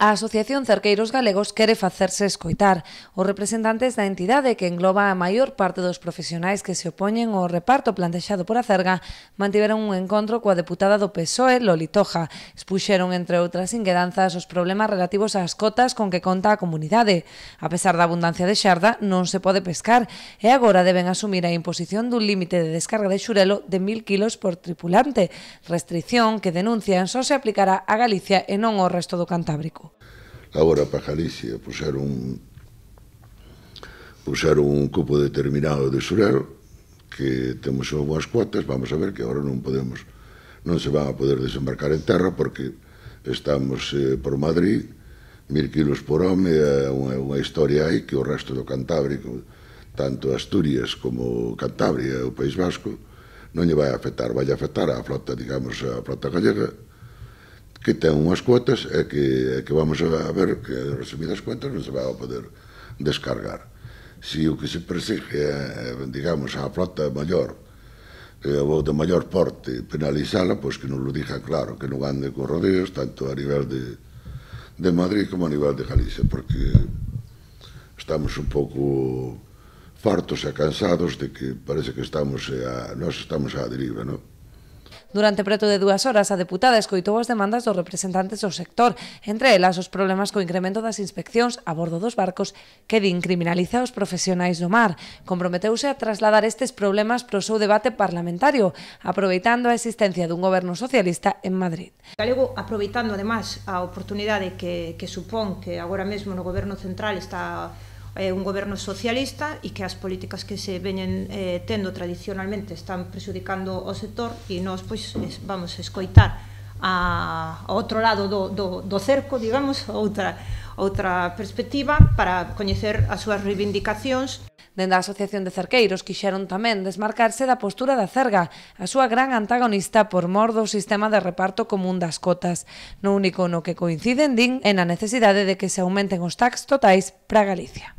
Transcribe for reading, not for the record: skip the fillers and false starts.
A Asociación Cerqueiros Galegos quere facerse escoitar. Os representantes da entidade, que engloba a maior parte dos profesionais que se opoñen ao reparto plantexado por Acerga, mantiveron un encontro coa deputada do PSOE, Loli Toja. Expuxeron, entre outras inquedanzas, os problemas relativos ás cotas con que conta a comunidade. A pesar da abundancia de xarda, non se pode pescar e agora deben asumir a imposición dun límite de descarga de xurelo de 1000 kilos por tripulante, restrición que denuncian só se aplicará a Galicia e non ao resto do Cantábrico. Agora para Galicia puxeron un cupo determinado de xurel, que temos unhas cuotas, vamos a ver que agora non se van a poder desembarcar en terra porque estamos por Madrid, 1000 kilos por home, é unha historia aí que o resto do Cantábrico, tanto Asturias como Cantabria e o País Vasco, non lle vai afectar a flota, digamos, a flota gallega, que ten unhas cuotas e que vamos a ver que, resumidas cuentas, non se vai a poder descargar. Se o que se persigue é, digamos, a flota maior ou de maior porte penalizala, pois que non lo diga claro, que non ande con rodeos, tanto a nivel de Madrid como a nivel de Galicia, porque estamos un pouco fartos e cansados de que parece que nós estamos á deriva, non? Durante preto de 2 horas, a deputada escoitou as demandas dos representantes do sector, entre elas os problemas co incremento das inspeccións a bordo dos barcos que din criminaliza os profesionais do mar. Comprometeuse a trasladar estes problemas para o seu debate parlamentario, aproveitando a existencia dun goberno socialista en Madrid. Galego, aproveitando ademais a oportunidade que supón que agora mesmo no goberno central está un goberno socialista e que as políticas que se veñen tendo tradicionalmente están prexudicando o sector e nós pois vamos a escoitar a outro lado do cerco, digamos, outra perspectiva para coñecer as súas reivindicacións. Dende a Asociación de Cerqueiros quixeron tamén desmarcarse da postura da Acerga, a súa gran antagonista por mor do sistema de reparto común das cotas. No único no que coinciden, din, é na necesidade de que se aumenten os tax totais para Galicia.